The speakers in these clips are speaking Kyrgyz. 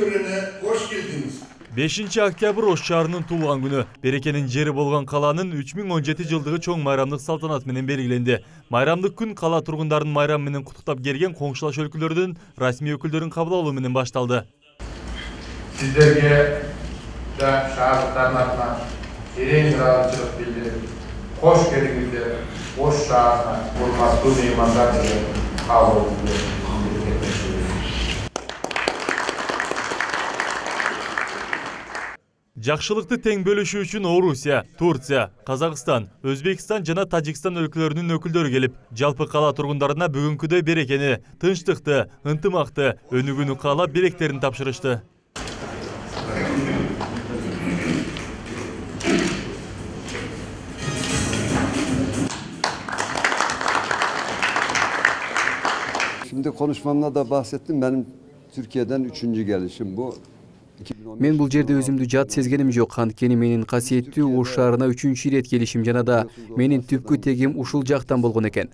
төрүнө кош келдиңиз. 5 октябрь Ош шаарынын туулган күнү. Берекенин жери болгон каланын 3017 жылдыгы чоң майрамдык салтанат менен белгиленди. Майрамдык күн кала тургундарын майрам менен куттуктап келген коңшулаш өлкөлөрдүн расмий өкүлдөрүн кабыл алуу менен башталды. Сиздерге да шаардыктардын атынан терең ыраазычылык билдирип, кош келиңиздер. Ош шаарына урматтуу меймандар менен кабыл алууңузду Жакшылыкты тең бөлүшүү үчүн Орусия, Турция, Казакстан, Өзбекстан жана Тажикстан өлкөлөрүнүн өкүлдөрү келип, жалпы кала тургундарына бүгүнкүдөй берекени, тынчтыкты, ынтымакты, өнүгүүнү каалап белектерин тапшырышты. Şimdi konuşmamda da bahsettim. Benim Türkiye'den 3. gelişim bu. Мен бул жерде өзүмдү жат сезгеним жок, анткени менин касиеттүү Ош шаарына 3 ирет келишим жана да менин түпкү тегим ушул жактан болгон экен.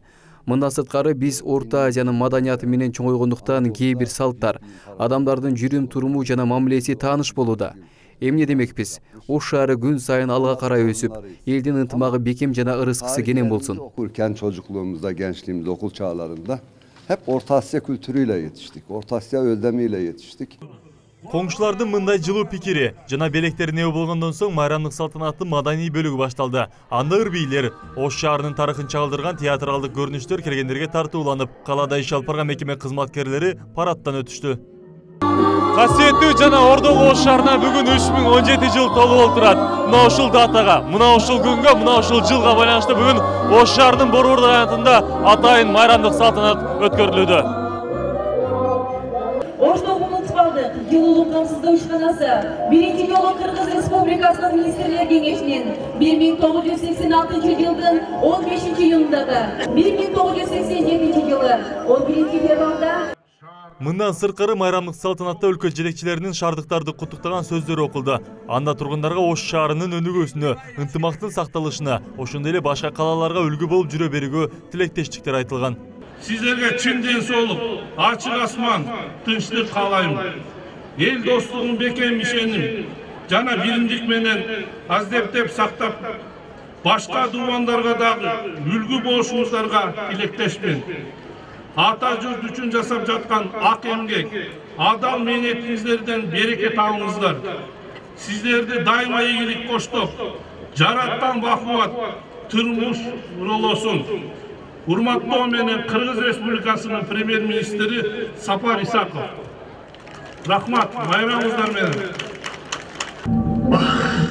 Мындан сырткары биз Орто Азиянын маданияты менен чоңойгондуктан кээ бир салттар, адамдардын жүрүм туруму жана мамилеси тааныш болууда. Эмне демекпиз? Ош шаары күн сайын алга карай өсүп, элдин ынтымагы бекем жана ырыскысы кенен болсун. Okurken çocukluğumuzda, gençliğimizde, okul çağlarında hep Orta Asya kültürüyle yetiştik. Orta Asya öldemiyle yetiştik. Коңшулардын мындай жылуу пикири жана белектерине ээ болгондон соң майрамдык салтанаттын маданий бөлүгү башталды. Анда ыр-бийлер, Ош шаарынын тарыхын чагылдырган театралдык көрүнүштөр келгендерге тартууланып, калада иш алып барган мекеме кызматкерлери парадтан өтүштү. Касиеттүү жана ордолуу Ош шаарына бүгүн 3017 жыл толуп олтурат. Мына ушул датага, мына ушул күнгө, мына ушул жылга байланыштуу бүгүн Ош шаарынын Борбор районунда атайын майрамдык салтанат өткөрүлүүдө. Жылуулук камсыздоо ишканасы биринчи жолу Кыргыз Республикасынын Министрлер Кеңешинин 1986 жылдын 15-июнундагы 1987 жылы 11 февралда Мындан сырткары майрамдык салтанатта өлкө жетекчилеринин шаардыктарды куттуктаган сөздөрү окулду. Анда тургундарга Ош шаарынын өнүгүүсүнө, ынтымактын сакталышына, ошондой эле башка калаларга үлгү болуп жүрө берүүгө тилектештиктер айтылган. Сиздерге чын ден соолук, ачык асман, тынчтык каалайм. Эл достугун бекем ишеним жана биримдик менен аздептеп сактап, башка дубандарга дагы үлгү болушуңуздарга тилектешмин. Ата журт үчүн жасап жаткан ак эмгек, адал мээнетиңиздерден береке табыңыздар. Сиздерди дайыма ийгилик коштоп, жараткан бакубат турмуш уролосун. Урматтоо менен Кыргыз Республикасынын премьер-министри Сапар Исаков. Рахмат, майрамыңыздар менен.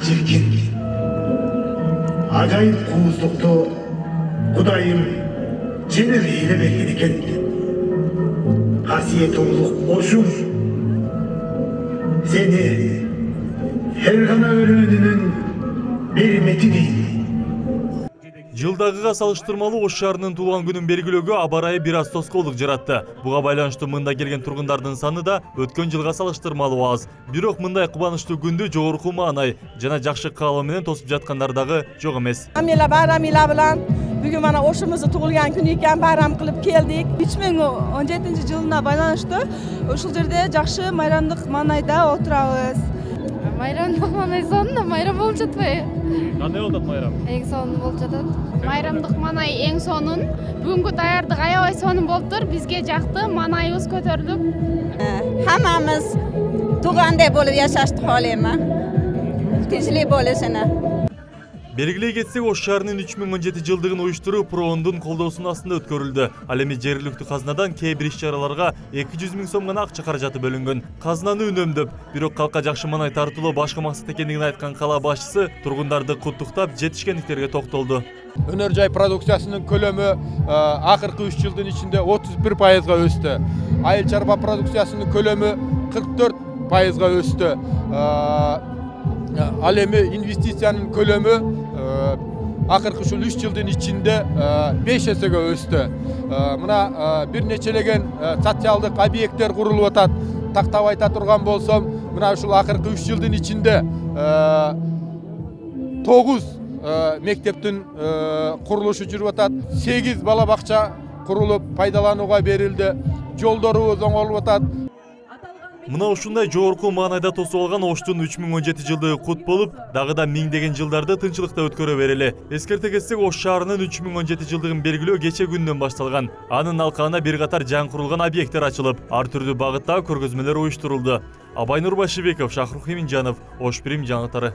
Чиркин, ажайып кууздукту Кудайым жеңил эйлебеген экен. Касиет улук Ошум, сени Фергана өрөөнүнүн беремети дейт. Жылдагыга салыштырмалуу Ош шаарынын туулган күнүн белгилөөгө аба ырайы бир аз тоскоолдук жаратты. Буга байланыштуу мында келген тургундардын саны да өткөн жылга салыштырмалуу аз. Бирок мындай кубанычтуу күндү жогорку маанай жана жакшы каалоо менен тосуп жаткандар дагы жок эмес. Байрамила менен бүгүн мана Ошумуздун туулган күнү экен, байрам кылып келдик. 2017 жылына байланыштуу ушул жерде жакшы майрамдык маанайда отурабыз. Майрамдык маанай сонун, майрам болуп жатпайбы? Кандай болуп атат майрам? Эң сонун болуп жатат. Майрамдык маанай эң сонун. Бүгүнкү даярдык аябай сонун болуптур. Бизге жакты, маанайыбыз көтөрүлүп. Hammamiz tug'andek bo'lib yashashni xohlayman. Tinchlik bo'lishini. Белгилей кетсек, Ош шаарынын 3017 жылдыгын уюштуруу ПРООНдун колдоосунун астында өткөрүлдү. Ал эми жергиликтүү казнадан кээ бир иш-чараларга 200 000 сом гана акча каражаты бөлүнгөн. Казнаны үнөмдөп, бирок калкка жакшы маанай тартуулоо башкы максат экендигин айткан кала башчысы тургундарды куттуктап, жетишкендиктерге токтолду. Өнөр жай продукциясынын көлөмү акыркы 3 жылдын ичинде 31%га өстү. Айыл чарба продукциясынын көлөмү 44%га өстү. Ал эми инвестициянын көлөмү акыркы ушул 3 жылдын ичинде 5 эсеге өстү. Мына бир нечелеген социалдык объекттер курулуп атат. Тактап айта турган болсом, мына ушул акыркы 3 жылдын ичинде 9 мектептин курулушу жүрүп атат. 8 бала бакча курулуп пайдаланууга берилди. Жолдорубуз оңолуп атат. Мына ушундай жогорку маанайда тосуп алган Оштун 3017 жылдыгы кут болуп, дагы да миңдеген жылдарды тынчылыкта өткөрө берели. Эскерте кетсек, Ош шаарынын 3017 жылдыгын белгилөө кече күндөн башталган. Анын алкагына бир катар жаңы курулган объекттер ачылып, ар түрдүү багыттагы көргөзмөлөр уюштурулду. Абай Нурбашибеков, Шахрух Эминжанов, Ош Прим жаңылыктары.